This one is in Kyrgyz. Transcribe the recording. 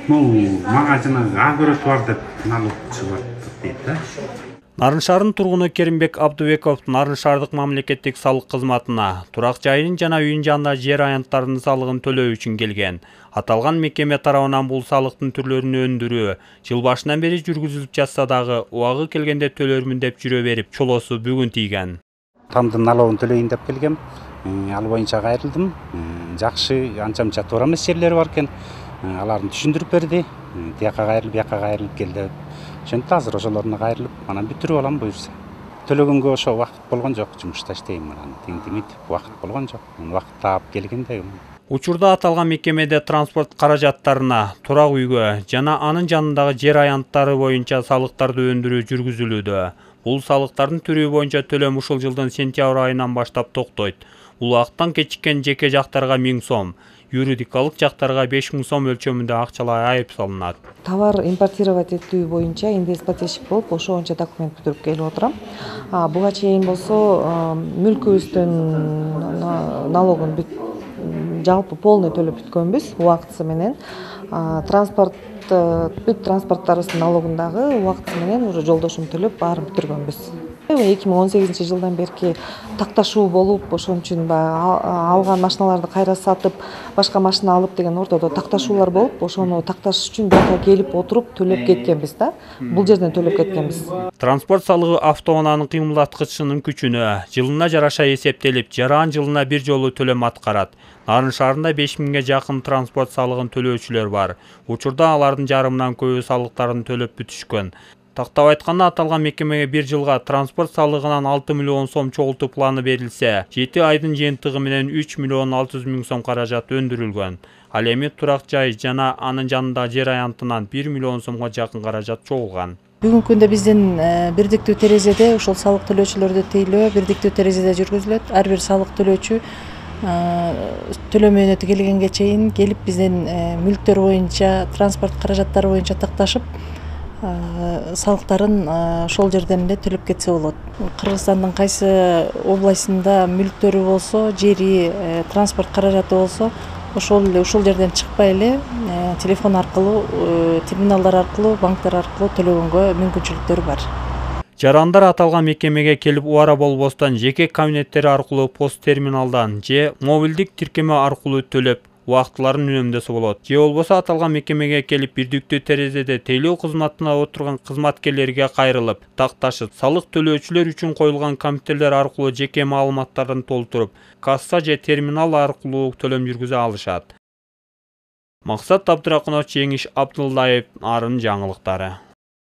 Мага жанагы агро бар деп налог чыгып дейт да. Нарын шаарынын тургуну Керимбек Абдыбеков Нарын шаардык мамлекеттик салык кызматына турак жайын жана үйүн жанында жер аянттарынын салыгын төлөө үчүн келген. Аталган мекеме тарабынан бул салыктын түрлөрүн өндүрүү жыл башынан бери жүргүзүлүп жатса дагы убагы келгенде төлөрмүн деп жүрө берип, чолосу бүгүн тийген. Тамдын налогун төлөйүн деп келгем. Ал боюнча кайрылдым. Жакшы анча-мынча туура эмес жерлери бар экен. Аларды түшүндүрүп берди. Тияка кайрылып келди. Ошентип азыр ошолоруна кайрылып, анан бүтүрүп алам буюрса. Төлөгөнгө ошо убакыт болгон жок, жумушта иштейм анан. Тиңдимитип убакыт болгон жок. Убакыт таап келгенде. Учурда аталган мекемеде транспорт каражаттарына, турак үйгө жана анын жанындагы жер аянттары боюнча салыктарды өндүрүү жүргүзүлүүдө. Бул салыктардын түрү боюнча төлөм ушул жылдын сентябрь айынан баштап токтойт. Убакыттан кечиккен жеке жактарга 1000 сом, юридикалык жактарга 5000 сом өлчөмүндө акчалай айып салынат. Товар импортировать этүү боюнча инвестплательщик болуп, ошо боюнча документ бүтүрүп келип отурам. Буга чейин болсо мүлкүбүздүн налогун жалпы полный төлөп бүткөнбүз убактысы менен. Бүт транспорттарыбыздын налогун дагы убактысы менен уже жолдошум төлөп баарын бүтүргөнбүз. 2018 жылдан берки такташуу болуп, ошон үчүн алган машиналарды кайра сатып, башка машина алып деген ортодо такташуулар болуп, ошону такташ үчүн бияка келип отуруп төлөп кеткенбиз да. Бул жерден төлөп кеткенбиз. Транспорт салыгы автоунаанын кыймылдаткычынын күчүнө жылына жараша эсептелип, жаран жылына бир жолу төлөм аткарат. Нарын шаарында 5000ге жакын транспорт салыгын төлөөчүлөр бар. Учурда алардын жарымынан көбү салыктарын төлөп бүтүшкөн. Тактап айтканда аталган мекемеге бир жылга транспорт салыгынан 6 миллион сом чогултуу планы берилсе, 7 айдын жыйынтыгы менен 3 миллион 600 000 сом каражат өндүрүлгөн. Ал эми турак жай жана анын жанындагы жер аянтынан 1 миллион сомго жакын каражат чогулган. Бүгүнкү күндө биздин бирдиктүү терезеде ушул салык төлөөчүлөрдү тейлөө бирдиктүү терезеде жүргүзүлөт. Ар бир салык төлөөчү төлөм мөөнөтү келгенге чейин келип биздин мүлктөр боюнча, транспорт каражаттары боюнча такташып, салыктарын ошол жерден эле төлөп кетсе болот. Кыргызстандын кайсы областында мүлктөрү болсо, жери, транспорт каражаты болсо, ушул жерден чыкпай эле телефон аркылуу, терминалдар аркылуу, банктар аркылуу төлөгөнгө мүмкүнчүлүктөрү бар. Жарандар аталган мекемеге келип убара болбостон жеке кабинеттери аркылуу пост терминалдан же мобилдик тиркеме аркылуу төлөп, убактыларын үнөмдөсө болот. Же болбосо аталган мекемеге келип бирдиктүү терезеде тейлөө кызматына отурган кызматкерлерге кайрылып, такташып, салык төлөөчүлөр үчүн коюлган компьютерлер аркылуу жеке маалыматтарын толтуруп, касса же терминал аркылуу төлөм жүргүзө алышат. Максат Абдракунов, Жеңиш Абдылдаев, Нарын жаңылыктары.